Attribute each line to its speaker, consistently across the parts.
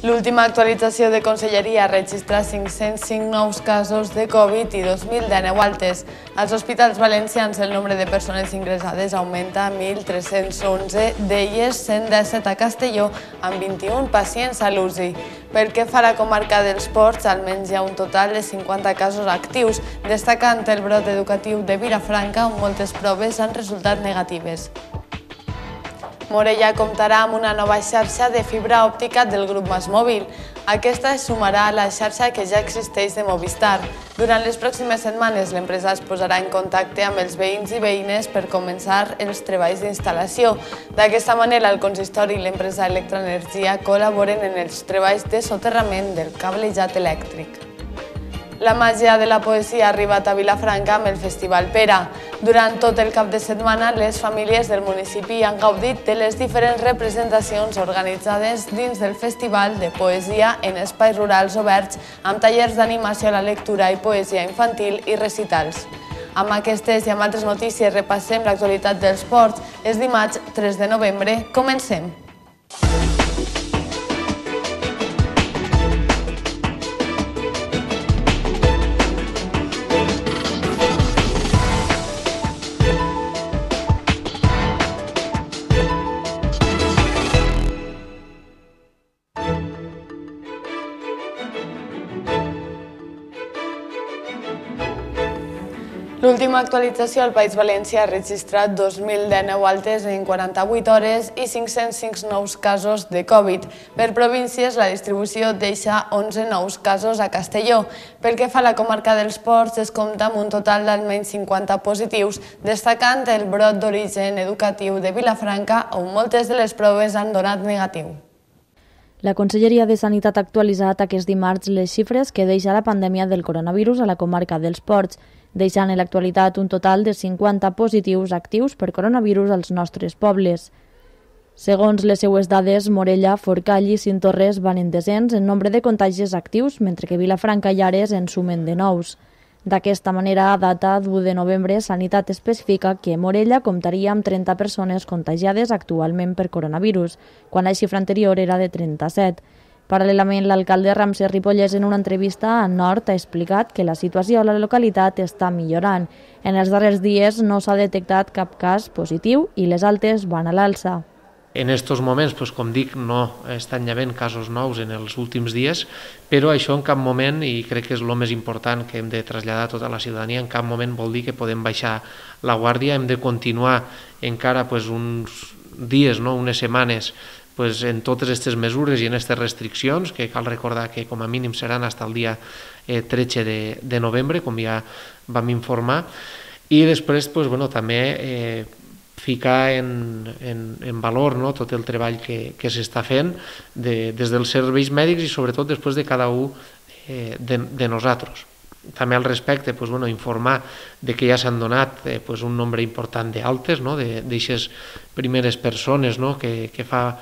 Speaker 1: L'última actualització de Conselleria registra 505 nous casos de Covid i 2.019 altes. Als hospitals valencians el nombre de persones ingressades augmenta a 1.311, d'elles 117 a Castelló, amb 21 pacients a l'UCI. Pel que fa a la comarca dels Ports, almenys hi ha un total de 50 casos actius, destacant el brot educatiu de Vilafranca, on moltes proves han resultat negatives. Morella comptarà amb una nova xarxa de fibra òptica del grup MásMóvil. Aquesta es sumarà a la xarxa que ja existeix de Movistar. Durant les pròximes setmanes, l'empresa es posarà en contacte amb els veïns i veïnes per començar els treballs d'instal·lació. D'aquesta manera, el consistori i l'empresa Electroenergia col·laboren en els treballs de soterrament del cablejat elèctric. La màgia de la poesia ha arribat a Vilafranca amb el Festival Pera. Durant tot el cap de setmana, les famílies del municipi han gaudit de les diferents representacions organitzades dins del Festival de Poesia en espais rurals oberts, amb tallers d'animació a la lectura i poesia infantil i recitals. Amb aquestes i amb altres notícies repassem l'actualitat dels ports. És dimarts 3 de novembre. Comencem! L'última actualització al País Valencià ha registrat 2.019 altes en 48 hores i 505 nous casos de Covid. Per províncies, la distribució deixa 11 nous casos a Castelló. Pel que fa a la comarca dels Ports, es compta amb un total d'almenys 50 positius, destacant el brot d'origen educatiu de Vilafranca, on moltes de les proves han donat negatiu.
Speaker 2: La Conselleria de Sanitat ha actualitzat aquest dimarts les xifres que deixa la pandèmia del coronavirus a la comarca dels Ports, deixant en l'actualitat un total de 50 positius actius per coronavirus als nostres pobles. Segons les seues dades, Morella, Forcall i Cinctorres van en descens en nombre de contagis actius, mentre que Vilafranca i Ares en sumen de nous. D'aquesta manera, a data d'1 de novembre, Sanitat especifica que Morella comptaria amb 30 persones contagiades actualment per coronavirus, quan la xifra anterior era de 37. Paral·lelament, l'alcalde Ramsès Ripollès en una entrevista a Nord ha explicat que la situació a la localitat està millorant. En els darrers dies no s'ha detectat cap cas positiu i les altes van a l'alça.
Speaker 3: En aquests moments, com dic, no estan havent casos nous en els últims dies, però això en cap moment, i crec que és el més important que hem de traslladar a tota la ciutadania, en cap moment vol dir que podem baixar la guàrdia, hem de continuar encara uns dies, unes setmanes, en totes aquestes mesures i en aquestes restriccions, que cal recordar que com a mínim seran fins al dia 13 de novembre, com ja vam informar, i després també ficar en valor tot el treball que s'està fent des dels serveis mèdics i sobretot després de cada un de nosaltres. També al respecte, informar que ja s'han donat un nombre important d'altes, d'aixes primeres persones que fa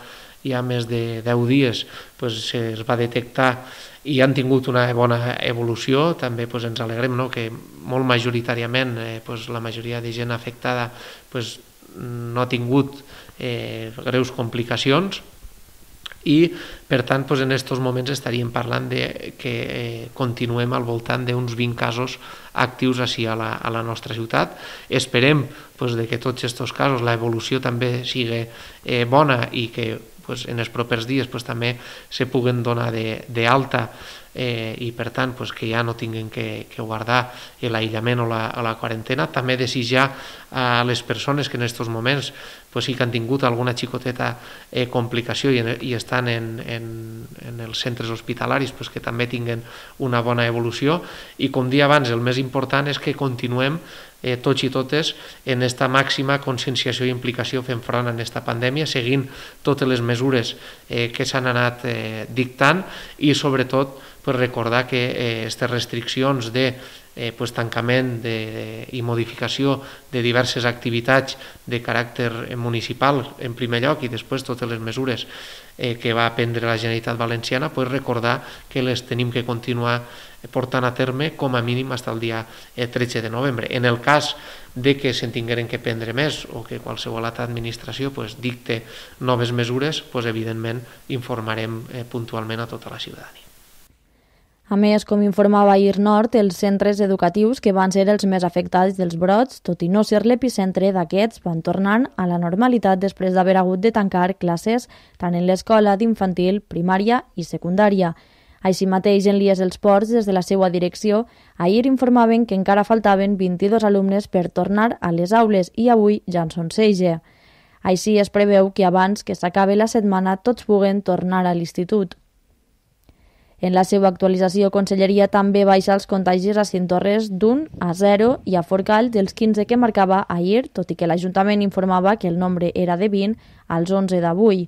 Speaker 3: ja més de 10 dies es va detectar i han tingut una bona evolució. També ens alegrem que molt majoritàriament la majoria de gent afectada no ha tingut greus complicacions i, per tant, en aquests moments estaríem parlant que continuem al voltant d'uns 20 casos actius així a la nostra ciutat. Esperem que tots aquests casos l'evolució també sigui bona i que en els propers dies també se puguen donar d'alta i per tant que ja no tinguin que guardar l'aïllament o la quarantena. També desitjar a les persones que en aquests moments sí que han tingut alguna xicoteta complicació i estan en els centres hospitalaris que també tinguen una bona evolució i, com dia abans, el més important és que continuem tots i totes en aquesta màxima conscienciació i implicació fent front a aquesta pandèmia, seguint totes les mesures que s'han anat dictant i sobretot recordar que aquestes restriccions de tancament i modificació de diverses activitats de caràcter municipal en primer lloc i després totes les mesures que va prendre la Generalitat Valenciana, recordar que les tenim que continuar portant a terme com a mínim fins al dia 13 de novembre. En el cas de que se'n tingueren que prendre més o que qualsevol altra administració dicte noves mesures, evidentment informarem puntualment a tota la ciutadania.
Speaker 2: A més, com informava ahir Nord, els centres educatius que van ser els més afectats dels brots, tot i no ser l'epicentre d'aquests, van tornant a la normalitat després d'haver hagut de tancar classes tant en l'escola d'infantil, primària i secundària. Així mateix, en l'IES Els Ports, des de la seva direcció, ahir informaven que encara faltaven 22 alumnes per tornar a les aules i avui ja en són 16. Així es preveu que abans que s'acabi la setmana tots puguen tornar a l'institut. En la seva actualització, Conselleria també baixa els contagis a Cientorres d'1 a 0 i a Forcall dels 15 que marcava ahir, tot i que l'Ajuntament informava que el nombre era de 20 als 11 d'avui.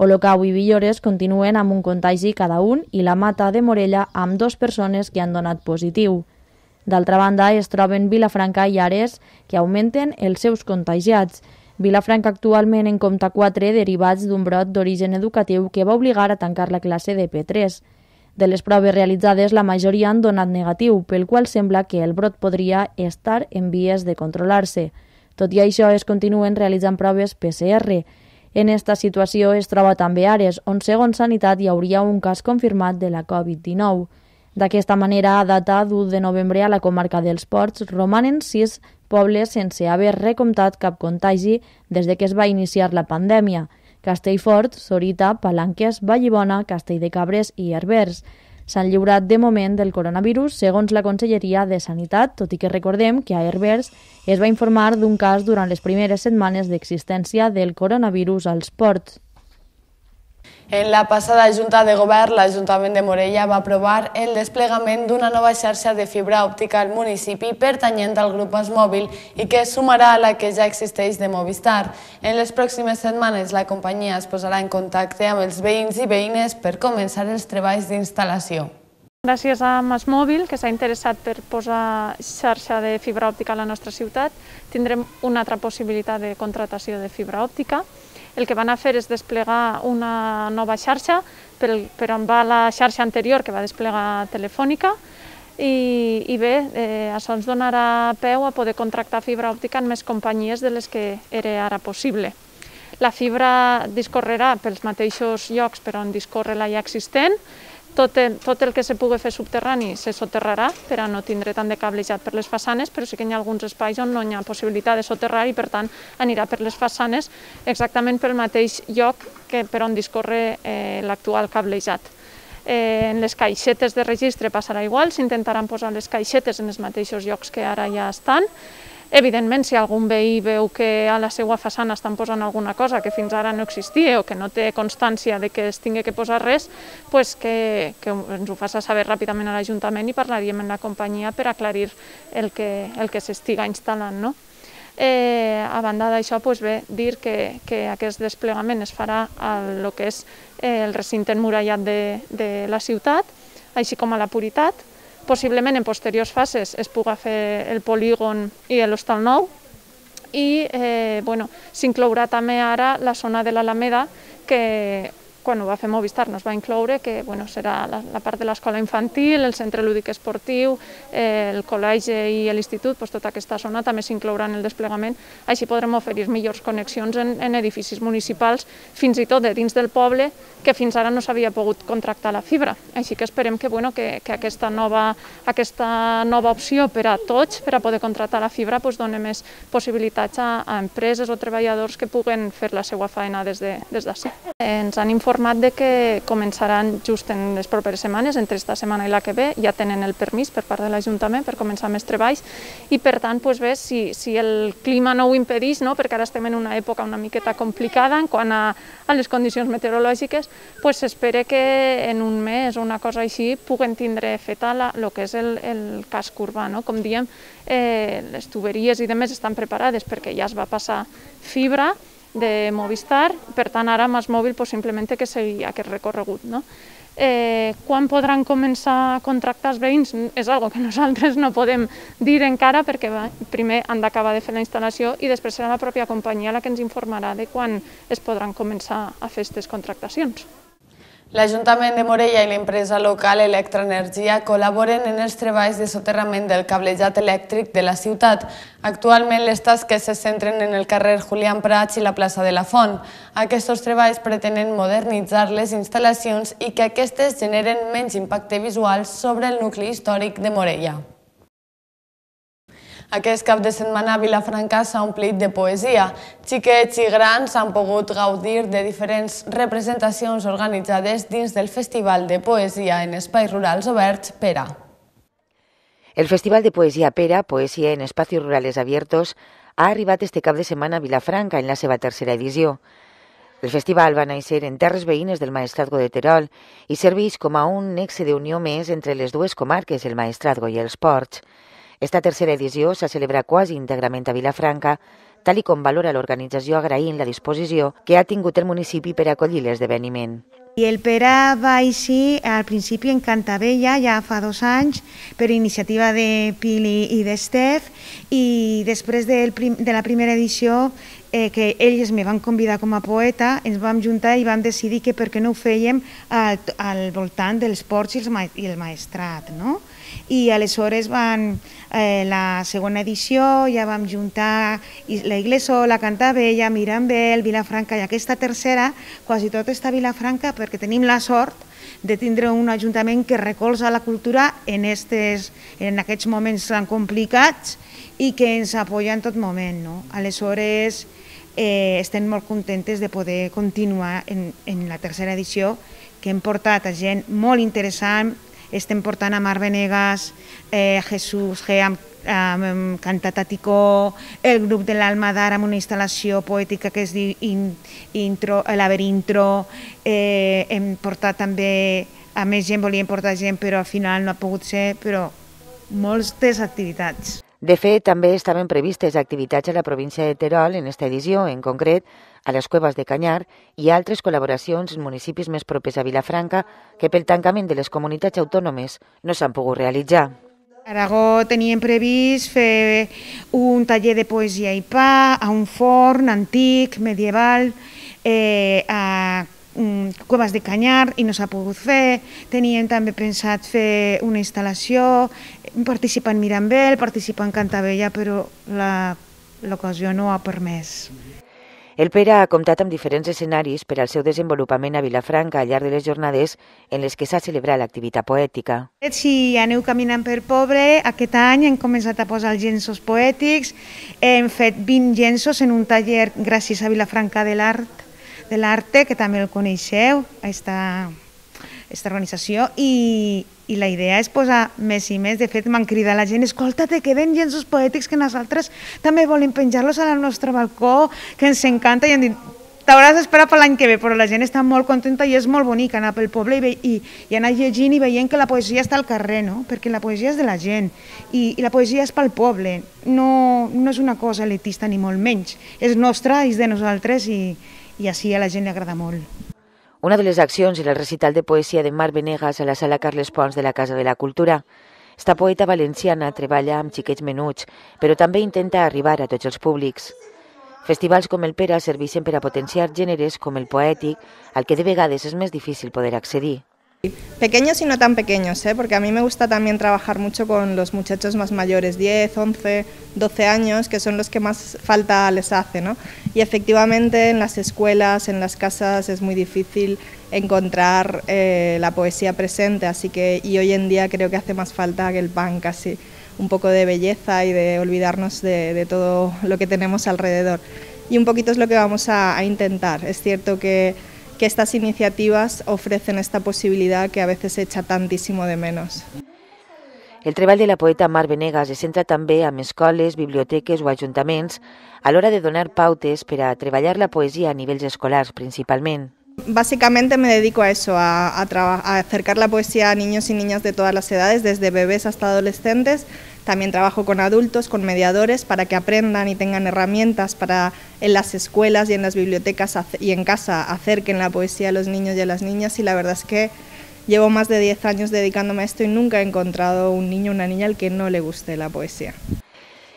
Speaker 2: Olocau i Villores continuen amb un contagi cada un i la Mata de Morella amb 2 persones que han donat positiu. D'altra banda, es troben Vilafranca i Ares, que augmenten els seus contagiats. Vilafranca actualment en compta 4 derivats d'un brot d'origen educatiu que va obligar a tancar la classe de P3. De les proves realitzades, la majoria han donat negatiu, pel qual sembla que el brot podria estar en vies de controlar-se. Tot i això, es continuen realitzant proves PCR. En esta situació es troba també Ares, on segons Sanitat hi hauria un cas confirmat de la Covid-19. D'aquesta manera, a data d'1 de novembre a la comarca dels Ports, romanen 6 pobles sense haver recomptat cap contagi des de que es va iniciar la pandèmia. Castellfort, Sorita, Palanques, Vallibona, Castelldecabres i Herbers. S'han lliurat de moment del coronavirus segons la Conselleria de Sanitat, tot i que recordem que a Herbers es va informar d'un cas durant les primeres setmanes d'existència del coronavirus als ports.
Speaker 1: En la passada Junta de Govern, l'Ajuntament de Morella va aprovar el desplegament d'una nova xarxa de fibra òptica al municipi pertanyent al grup MásMóvil i que es sumarà a la que ja existeix de Movistar. En les pròximes setmanes, la companyia es posarà en contacte amb els veïns i veïnes per començar els treballs d'instal·lació.
Speaker 4: Gràcies a MásMóvil, que s'ha interessat per posar xarxa de fibra òptica a la nostra ciutat, tindrem una altra possibilitat de contractació de fibra òptica. El que van a fer és desplegar una nova xarxa per on va la xarxa anterior que va desplegar Telefònica i bé, això ens donarà peu a poder contractar fibra òptica en més companyies de les que era ara possible. La fibra discorrerà pels mateixos llocs per on discorre la ja existent. Tot el que se pugui fer subterrani se soterrarà per a no tindre tant de cablejat per les façanes, però sí que hi ha alguns espais on no hi ha possibilitat de soterrar i per tant anirà per les façanes exactament pel mateix lloc que per on discorre l'actual cablejat. En les caixetes de registre passarà igual, s'intentaran posar les caixetes en els mateixos llocs que ara ja estan. Evidentment, si algun veí veu que a la seva façana estan posant alguna cosa que fins ara no existia o que no té constància de que es tingui que posar res, que ens ho faci saber ràpidament a l'Ajuntament i parlaríem amb la companyia per aclarir el que s'estiga instal·lant. A banda d'això, dir que aquest desplegament es farà al que és el recinte emmurallat de la ciutat, així com a la Puritat. Possiblement en posteriors fases es pugui fer el polígon i l'Hostal Nou i s'inclourà també ara la zona de l'Alameda que quan ho va fer Movistar no es va incloure, que serà la part de l'escola infantil, el centre lúdic esportiu, el col·legi i l'institut, tota aquesta zona també s'inclourà en el desplegament. Així podrem oferir millors connexions en edificis municipals, fins i tot de dins del poble, que fins ara no s'havia pogut contractar la fibra. Així que esperem que aquesta nova opció per a tots, per a poder contractar la fibra, doni més possibilitats a empreses o treballadors que puguen fer la seva feina des d'ací. Ens han informat que començaran just en les properes setmanes, entre esta setmana i la que ve, ja tenen el permís per part de l'Ajuntament per començar més treballs i per tant, si el clima no ho impedeix, perquè ara estem en una època una miqueta complicada en quant a les condicions meteorològiques, s'espera que en un mes o una cosa així puguen tindre feta el que és el casc urbà. Com diem, les tuberies i demés estan preparades perquè ja es va passar fibra de Movistar, per tant ara MásMóvil simplement té que seguir aquest recorregut. Quan podran començar a contractar els veïns és una cosa que nosaltres no podem dir encara perquè primer han d'acabar de fer la instal·lació i després serà la pròpia companyia la que ens informarà de quan es podran començar a fer aquestes contractacions.
Speaker 1: L'Ajuntament de Morella i l'empresa local Electroenergia col·laboren en els treballs de soterrament del cablejat elèctric de la ciutat. Actualment les tasques se centren en el carrer Julián Prats i la plaça de la Font. Aquests treballs pretenen modernitzar les instal·lacions i que aquestes generen menys impacte visual sobre el nucli històric de Morella. Aquest cap de setmana a Vilafranca s'ha omplit de poesia. Xiquets i grans han pogut gaudir de diferents representacions organitzades dins del Festival de Poesia en Espais Rurals Oberts Pera.
Speaker 5: El Festival de Poesía Pera, Poesía en Espacios Rurales Abiertos, ha arribat este cap de setmana a Vilafranca en la seva tercera edició. El festival va néixer en terres veïnes del Maestrazgo de Terol i serveix com a un nexe d'unió més entre les dues comarques, el Maestrazgo i els Ports. Esta tercera edició s'ha celebrat quasi íntegrament a Vilafranca, tal i com valora l'organització agraint la disposició que ha tingut el municipi per acollir l'esdeveniment.
Speaker 6: I el Pera va així al principi en Cantabella, ja fa 2 anys, per iniciativa de Pili i d'Estef, i després de la primera edició, que ells me van convidar com a poeta, ens vam juntar i vam decidir que per què no ho fèiem al voltant dels ports i el maestrat, no? I aleshores la segona edició ja vam juntar la Iglesola, Cantabella, Mirambel, Vilafranca, i aquesta tercera quasi tot està a Vilafranca perquè tenim la sort de tindre un ajuntament que recolza la cultura en aquests moments tan complicats i que ens apoya en tot moment, no? Aleshores estem molt contentes de poder continuar en la tercera edició, que hem portat a gent molt interessant. Estem portant a Mar Venegas, Jesús G. amb Cantat a Ticó, el grup de l'Alma d'Ara amb una instal·lació poètica que es diu Laberintro. Hem portat també, a més gent, volíem portar gent, però al final no ha pogut ser, però moltes activitats.
Speaker 5: De fet, també estaven previstes activitats a la província de Terol en esta edició, en concret a les Cuevas de Canyar i altres col·laboracions en municipis més propers a Vilafranca que pel tancament de les comunitats autònomes no s'han pogut realitzar.
Speaker 6: A Aragó teníem previst fer un taller de poesia i pa a un forn antic, medieval, a Cuevas de Canyar, i no s'ha pogut fer. Teníem també pensat fer una instal·lació, participar en Mirambel, participar en Cantabella, però l'ocasió no ha permès.
Speaker 5: El Pera ha comptat amb diferents escenaris per al seu desenvolupament a Vilafranca al llarg de les jornades en les que s'ha celebrat l'activitat poètica.
Speaker 6: Si aneu caminant per Poble, aquest any hem començat a posar els llenços poètics. Hem fet 20 llenços en un taller gràcies a Vilafranca de l'Arte, que també el coneixeu, aquesta organització, i la idea és posar més i més. De fet, m'han cridat la gent: escolta, te queden llenços poètics que nosaltres també volem penjar-los al nostre balcó, que ens encanta, i han dit: t'hauràs d'esperar per l'any que ve, però la gent està molt contenta i és molt bonic anar pel poble i anar llegint i veient que la poesia està al carrer, no? Perquè la poesia és de la gent i la poesia és pel poble, no és una cosa elitista ni molt menys, és nostra, és de nosaltres, i així a la gent li agrada molt.
Speaker 5: Una de les accions era el recital de poesia de Mar Venegas a la sala Carles Pons de la Casa de la Cultura. Esta poeta valenciana treballa amb xiquets menuts, però també intenta arribar a tots els públics. Festivals com el Pera serveixen per a potenciar gèneres com el poètic, al que de vegades és més difícil poder accedir.
Speaker 7: Pequeños y no tan pequeños, porque a mí me gusta también trabajar mucho con los muchachos más mayores, 10, 11, 12 años, que son los que más falta les hace, ¿no? Y efectivamente en las escuelas, en las casas es muy difícil encontrar la poesía presente, y hoy en día creo que hace más falta que el pan casi, un poco de belleza y de olvidarnos de todo lo que tenemos alrededor. Y un poquito es lo que vamos a intentar. Es cierto que estas iniciativas ofrecen esta posibilidad que a veces se echa tantísimo de menos.
Speaker 5: El treball de la poeta Mar Venegas es centra també amb escoles, biblioteques o ajuntaments a l'hora de donar pautes per a treballar la poesia a nivells escolars principalment.
Speaker 7: Básicamente me dedico a eso, a acercar la poesía a niños y niñas de todas las edades, desde bebés hasta adolescentes. También trabajo con adultos, con mediadores, para que aprendan y tengan herramientas para en las escuelas y en las bibliotecas y en casa acerquen la poesía a los niños y a las niñas, y la verdad es que llevo más de 10 años dedicándome a esto y nunca he encontrado un niño o una niña al que no le guste la poesía.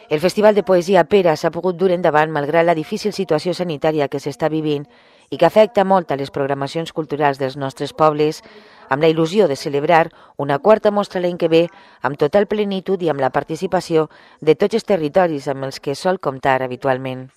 Speaker 5: El Festival de Poesia Pera s'ha pogut dur endavant malgrat la difícil situació sanitària que s'està vivint i que afecta molt a les programacions culturals dels nostres pobles, amb la il·lusió de celebrar una quarta mostra l'any que ve amb total plenitud i amb la participació de tots els territoris amb els que sol comptar habitualment.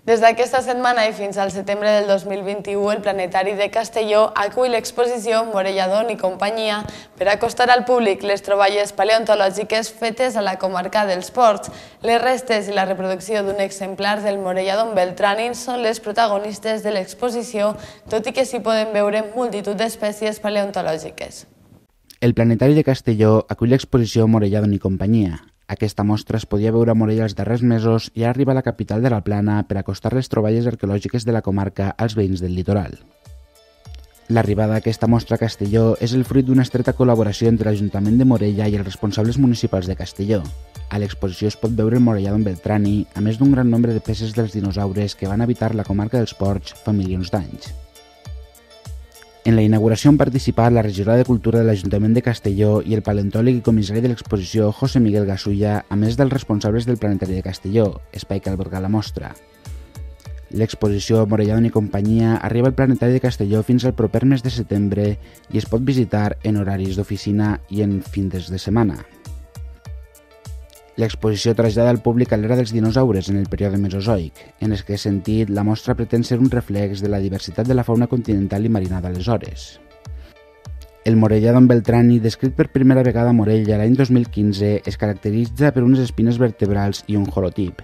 Speaker 1: Des d'aquesta setmana i fins al setembre del 2021, el Planetari de Castelló acull l'exposició Morelladon i companyia per acostar al públic les troballes paleontològiques fetes a la comarca dels Ports. Les restes i la reproducció d'un exemplar del Morelladon beltranin són les protagonistes de l'exposició, tot i que s'hi poden veure multitud d'espècies paleontològiques.
Speaker 8: El Planetari de Castelló acull l'exposició Morelladon i companyia. Aquesta mostra es podia veure a Morella els darrers mesos i ara arriba a la capital de la Plana per acostar les troballes arqueològiques de la comarca als veïns del litoral. L'arribada d'aquesta mostra a Castelló és el fruit d'una estreta col·laboració entre l'Ajuntament de Morella i els responsables municipals de Castelló. A l'exposició es pot veure el Morelladon beltrani, a més d'un gran nombre de peces dels dinosaures que van habitar la comarca dels Ports fa milions d'anys. En la inauguració han participat la regidora de Cultura de l'Ajuntament de Castelló i el paleontòleg i comissari de l'exposició José Miguel Gasulla, a més dels responsables del Planetari de Castelló, espai que alberga la mostra. L'exposició Morelladon i companyia arriba al Planetari de Castelló fins al proper mes de setembre i es pot visitar en horaris d'oficina i en fins de setmana. L'exposició trasllada al públic a l'era dels dinosaures en el període mesozoic. En aquest sentit, la mostra pretén ser un reflex de la diversitat de la fauna continental i marina d'aleshores. El Morelladon beltrani, descrit per primera vegada a Morella l'any 2015, es caracteritza per unes espines vertebrals i un holotip.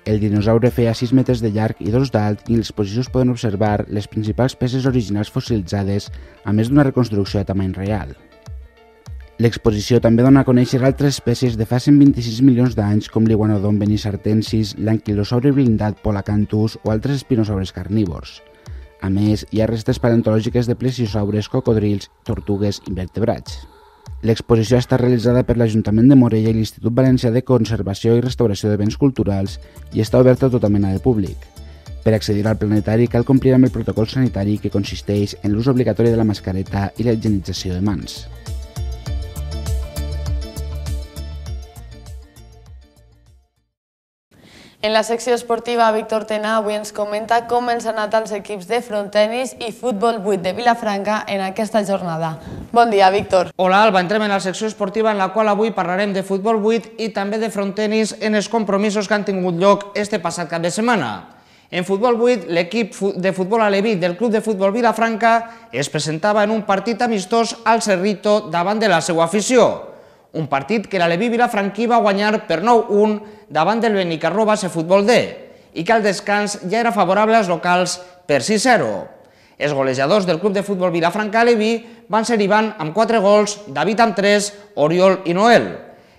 Speaker 8: El dinosaure feia 6 metres de llarg i 2 d'alt i en l'exposició es poden observar les principals peces originals fossilitzades, a més d'una reconstrucció a tamany real. L'exposició també dona a conèixer altres espècies de fa 126 milions d'anys com l'iguanodon benisartensis, l'anquilosaure blindat Polacanthus o altres espinosaures carnívors. A més, hi ha restes paleontològiques de plesiosaures, cocodrils, tortugues i invertebrats. L'exposició està realitzada per l'Ajuntament de Morella i l'Institut Valencià de Conservació i Restauració de Béns Culturals i està oberta a tota mena de públic. Per accedir al planetari cal complir amb el protocol sanitari que consisteix en l'ús obligatori de la mascareta i la higienització de mans.
Speaker 1: En la secció esportiva, Víctor Tena avui ens comenta com ens han anat els equips de frontenis i futbol 8 de Vilafranca en aquesta jornada. Bon dia, Víctor.
Speaker 9: Hola, Alba. Entrem en la secció esportiva en la qual avui parlarem de futbol 8 i també de frontenis en els compromisos que han tingut lloc este passat cap de setmana. En futbol 8, l'equip de futbol aleví del Club de Futbol Vilafranca es presentava en un partit amistós al Cerrito davant de la seva afició. Un partit que l'aleví vilafranquí va guanyar per 9-1 davant del Benicarló Base Futbol D i que al descans ja era favorable als locals per 6-0. Els golejadors del Club de Futbol Vilafranca aleví van ser Ivan amb 4 gols, David amb 3, Oriol i Noel.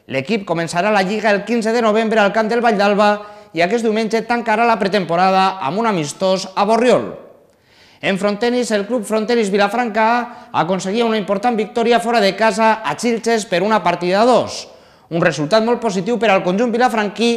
Speaker 9: L'equip començarà la Lliga el 15 de novembre al camp del Vall d'Alba i aquest diumenge tancarà la pretemporada amb un amistós a Borriol. En frontenis, el Club Frontenis Vilafranca aconseguia una important victòria fora de casa a Xilxes per una partida a 2. Un resultat molt positiu per al conjunt vilafranquí,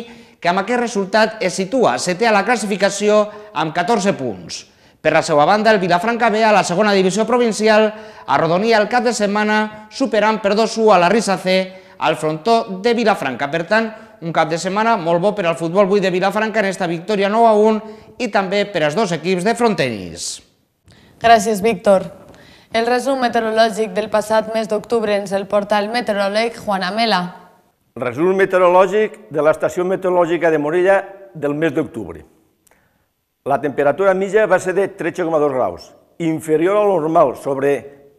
Speaker 9: que amb aquest resultat es situa setè a la classificació amb 14 punts. Per la seva banda, el Vilafranca B a la segona divisió provincial arrodonia el cap de setmana superant per 2-1 a la Risa C al frontó de Vilafranca. Per tant, un cap de setmana molt bo per al futbol 8 de Vilafranca en esta victòria 9-1 i també per als dos equips de frontenis.
Speaker 1: Gràcies, Víctor. El resum meteorològic del passat mes d'octubre ens el porta el meteoròleg Juan Amela.
Speaker 10: Resum meteorològic de l'estació meteorològica de Morella del mes d'octubre. La temperatura mitja va ser de 13,2 graus, inferior al normal, sobre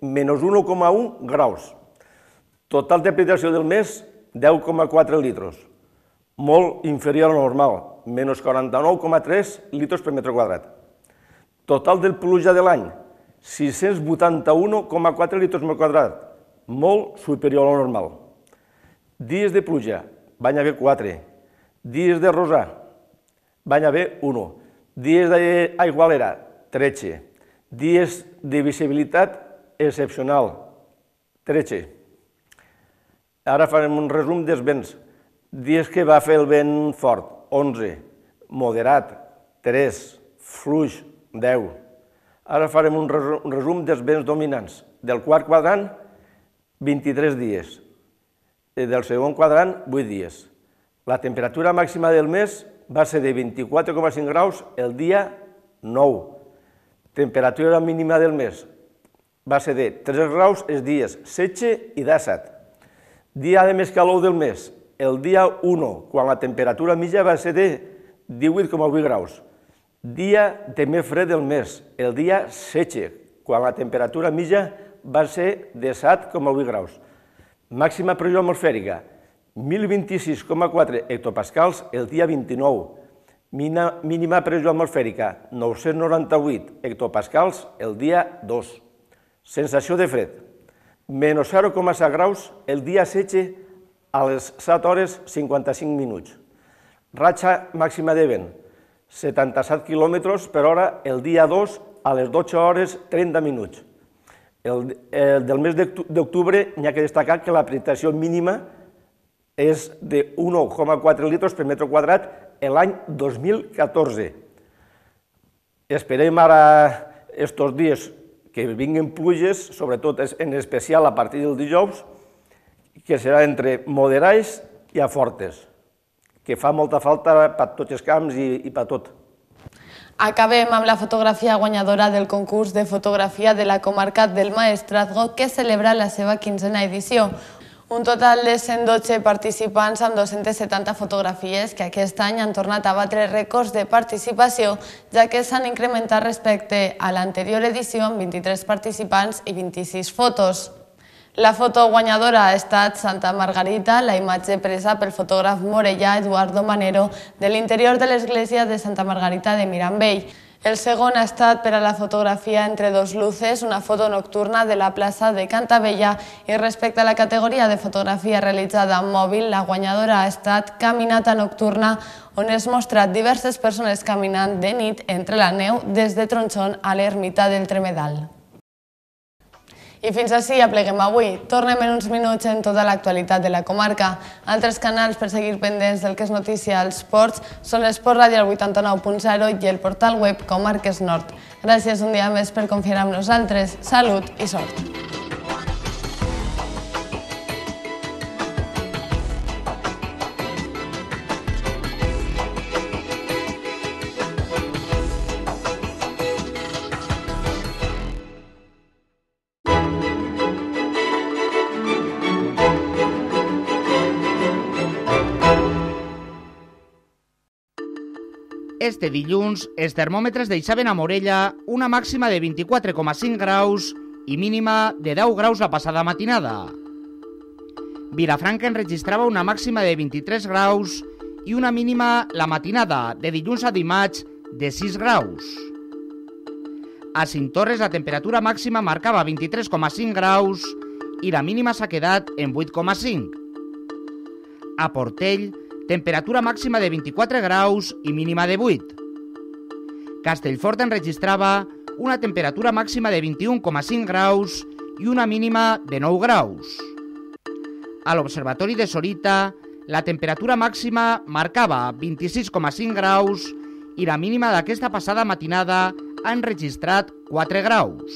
Speaker 10: menys 1,1 graus. Total de precipitació del mes, 10,4 litros, molt inferior al normal, menys 49,3 litres per metre quadrat. Total de pluja de l'any, 681,4 litres per quadrat, molt superior al normal. Dies de pluja, van haver 4. Dies de rosar, van haver 1. Dies d'aigualera, 13. Dies de visibilitat excepcional, 13. Ara farem un resum dels vents. Dies que va fer el vent fort, 11. Moderat, 3. Fluix, 10. Ara farem un resum dels vents dominants. Del quart quadrant, 23 dies. Del segon quadrant, 8 dies. La temperatura màxima del mes, va ser de 24,5 graus el dia 9. Temperatura mínima del mes va ser de 3 graus els dies 16 i 17. Dia de més calor del mes, el dia 1, quan la temperatura mitja va ser de 18,8 graus. Dia de més fred del mes, el dia 16, quan la temperatura mitja va ser de 7,8 graus. Màxima pressió atmosfèrica, 1026,4 hectopascals el dia 29. Mínima pressió atmosfèrica, 998 hectopascals el dia 2. Sensació de fred, menys 0,7 graus el dia 16 a les 7 hores 55 minuts. Ratxa màxima de vent, 77 km per hora el dia 2 a les 12 hores 30 minuts. Del mes d'octubre n'hi ha que destacar que la precipitació mínima és de 1,4 litres per metre quadrat l'any 2014. Esperem ara estos dies que vinguin pluges, sobretot en especial a partir del dijous, que serà entre moderades i a fortes, que fa molta falta per tots els camps i per tot.
Speaker 1: Acabem amb la fotografia guanyadora del concurs de fotografia de la comarca del Maestrazgo, que celebra la seva 15a edició. Un total de 112 participants amb 270 fotografies que aquest any han tornat a batre rècords de participació, ja que s'han incrementat respecte a l'anterior edició amb 23 participants i 26 fotos. La foto guanyadora ha estat Santa Margarita, la imatge presa pel fotògraf morellà Eduardo Manero de l'interior de l'església de Santa Margarita de Mirambell. El segon ha estat per a la fotografia Entre dos luces, una foto nocturna de la plaça de Cantabella, i respecte a la categoria de fotografia realitzada amb mòbil, la guanyadora ha estat Caminata nocturna, on es mostrat diverses persones caminant de nit entre la neu des de Tronxón a l'ermita del Tremedal. I fins ací apleguem avui. Tornem en uns minuts en tota l'actualitat de la comarca. Altres canals per seguir pendents del que és notícia als ports són l'Esport Ràdio al 89.0 i el portal web Comarques Nord. Gràcies un dia més per confiar en nosaltres. Salut i sort!
Speaker 9: Este dilluns, els termòmetres deixaven a Morella una màxima de 24,5 graus i mínima de 10 graus la passada matinada. Vilafranca enregistrava una màxima de 23 graus i una mínima la matinada de dilluns a dimarts de 6 graus. A Cinctorres la temperatura màxima marcava 23,5 graus i la mínima s'ha quedat en 8,5. A Portell, temperatura màxima de 24 graus i mínima de 8. Castellfort enregistrava una temperatura màxima de 21,5 graus i una mínima de 9 graus. A l'Observatori de Sorita, la temperatura màxima marcava 26,5 graus i la mínima d'aquesta passada matinada ha enregistrat 4 graus.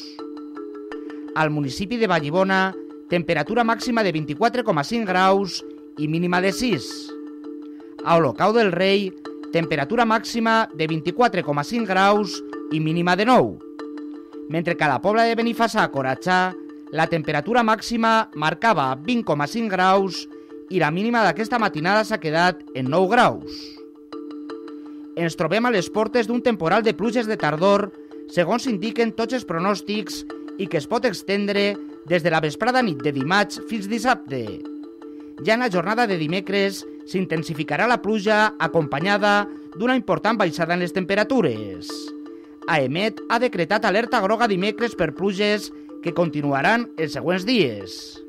Speaker 9: Al municipi de Vallibona, temperatura màxima de 24,5 graus i mínima de 6. A Olocau del Rei, temperatura màxima de 24,5 graus i mínima de 9. Mentre que a la Pobla de Benifassà, Coratxà, la temperatura màxima marcava 20,5 graus i la mínima d'aquesta matinada s'ha quedat en 9 graus. Ens trobem a les portes d'un temporal de pluges de tardor, segons indiquen tots els pronòstics, i que es pot estendre des de la vesprada nit de dimarts fins dissabte. Ja en la jornada de dimecres s'intensificarà la pluja acompanyada d'una important baixada en les temperatures. AEMET ha decretat alerta groga dimecres per pluges que continuaran els següents dies.